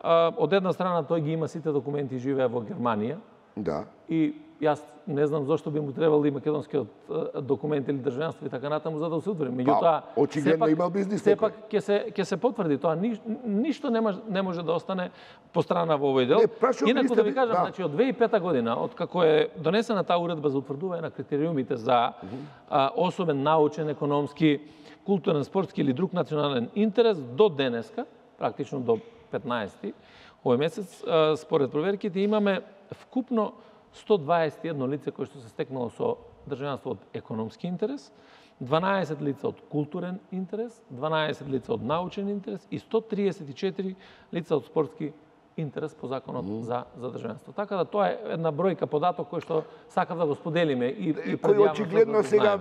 Од една страна тој ги има сите документи и живее во Германија. Да. И јас не знам зошто би му требало и македонскиот документ или државенство и така натаму за да се утврди. Меѓутоа, очигледно имал бизнис сепак ќе се потврди тоа. Ништо не може да остане по страна во овој дел. Инаку да ви кажам, значи од 2005 година, од како е донесена таа уредба за утврдување на критериумите за особен научен, економски, културен, спортски или друг национален интерес до денеска, практично до 15-ти овој месец, според проверките имаме вкупно 121 лице кои што се стекнало со државенство од економски интерес, 12 лица од културен интерес, 12 лица од научен интерес и 134 лица од спортски интерес по законот за државенство. Така да тоа е една бројка податок кој што сакав да го споделиме и кој очигледно сега